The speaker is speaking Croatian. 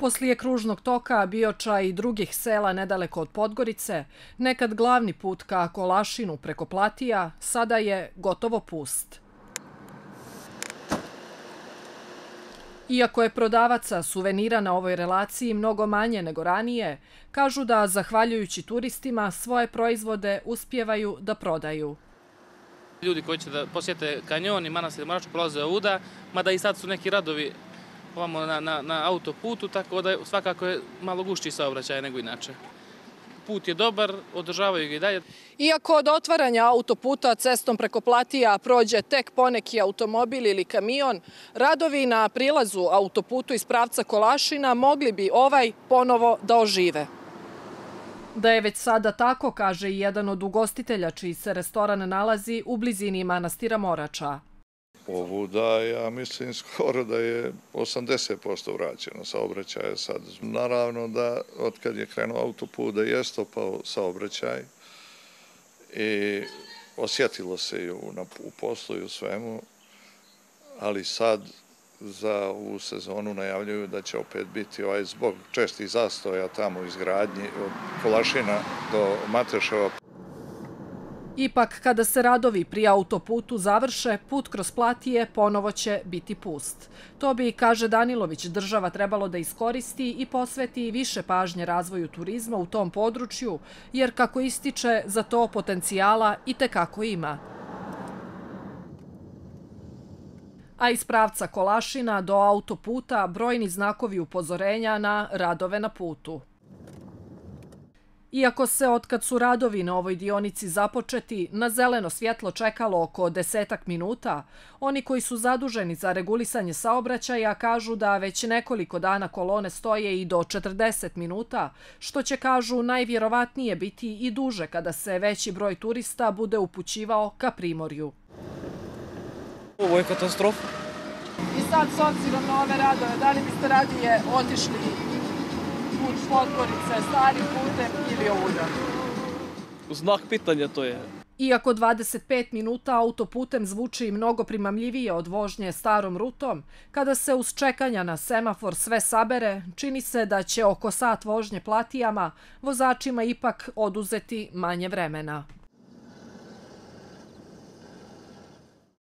Poslije kružnog toka, Bioča i drugih sela nedaleko od Podgorice, nekad glavni put ka Kolašinu preko Platija, sada je gotovo pust. Iako je prodavaca suvenira na ovoj relaciji mnogo manje nego ranije, kažu da, zahvaljujući turistima, svoje proizvode uspijevaju da prodaju. Ljudi koji će da posjete kanjon i manastir Morača prolaze ovuda, mada i sad su neki radovi ovamo na autoputu, tako da svakako je malo gušći saobraćaj nego inače. Put je dobar, održavaju ga i dalje. Iako od otvaranja autoputa cestom preko Platija prođe tek poneki automobil ili kamion, radovi na prilazu autoputu iz pravca Kolašina mogli bi ovaj ponovo da ožive. Da je već sada tako, kaže i jedan od ugostitelja čiji se restoran nalazi u blizini manastira Morača. Ovuda, ja mislim skoro da je 80% vraćeno saobraćaja sad. Naravno da od kad je krenuo autoput da je stopao saobraćaj i osjetilo se i u poslu i u svemu, ali sad za ovu sezonu najavljuju da će opet biti zbog čestih zastoja tamo u izgradnji od Kolašina do Mateševa. Ipak, kada se radovi pri autoputu završe, put kroz Platije ponovo će biti pust. To bi, kaže Danilović, država trebalo da iskoristi i posveti više pažnje razvoju turizma u tom području, jer, kako ističe, za to potencijala itekako ima. A iz pravca Kolašina do autoputa brojni znakovi upozorenja na radove na putu. Iako se, otkad su radovi na ovoj dionici započeti, na zeleno svjetlo čekalo oko 10 minuta, oni koji su zaduženi za regulisanje saobraćaja kažu da već nekoliko dana kolone stoje i do 40 minuta, što će, kažu, najvjerovatnije biti i duže kada se veći broj turista bude upućivao ka Primorju. Ovo je katastrofa. I sad, s obzirom na ove radove, da li biste radije otišli put Podgorice, starim putem ili ovuda? Znak pitanja to je. Iako 25 minuta autoputem zvuči mnogo primamljivije od vožnje starom rutom, kada se uz čekanja na semafor sve sabere, čini se da će oko sat vožnje Platijama vozačima ipak oduzeti manje vremena.